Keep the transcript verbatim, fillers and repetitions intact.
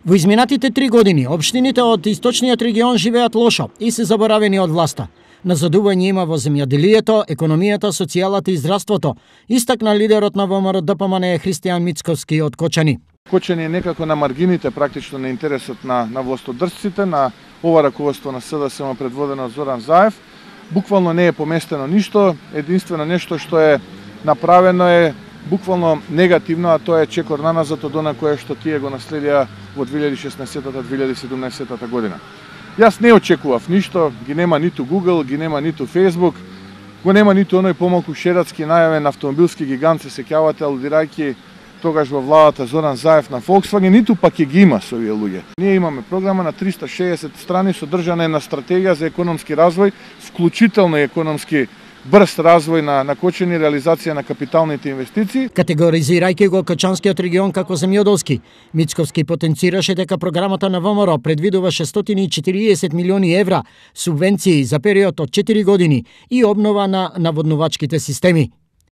Во изминатите три години, општините од источниот регион живеат лошо и се заборавени од власта. Назадување има во земјоделието, економијата, социјалата и здравството, истакна лидерот на ВМРО-ДПМН Христијан Мицковски од Кочани. Кочани е некако на маргините практично на интересот на, на властодржците, на ова раководство на СДСМ предводено од Зоран Заев. Буквално не е поместено ништо, единствено нешто што е направено е буквално негативно, а тоа е чекор наназад од она кое што тие го наследија во две илјади и шеснаесетта - две илјади и седумнаесетта година. Јас не очекував ништо, ги нема ниту Google, ги нема ниту Facebook, го нема ниту оној помалку шератски најавен автомобилски гигант, се сеќавате, алудирајќи тогаш во владата Зоран Заев на Volkswagen, ниту пак ќе ги има со овие луѓе. Ние имаме програма на триста и шеесет страни, содржана е на стратегија за економски развој, вклучително и економски брз развој на, на Кочани, реализација на капиталните инвестиции. Категоризирајќи го Кочанскиот регион како земјоделски, Мицковски потенцираше дека програмата на ВМРО предвидува шестстотини и четириесет милиони евра субвенции за период од четири години и обнова на наводнувачките системи.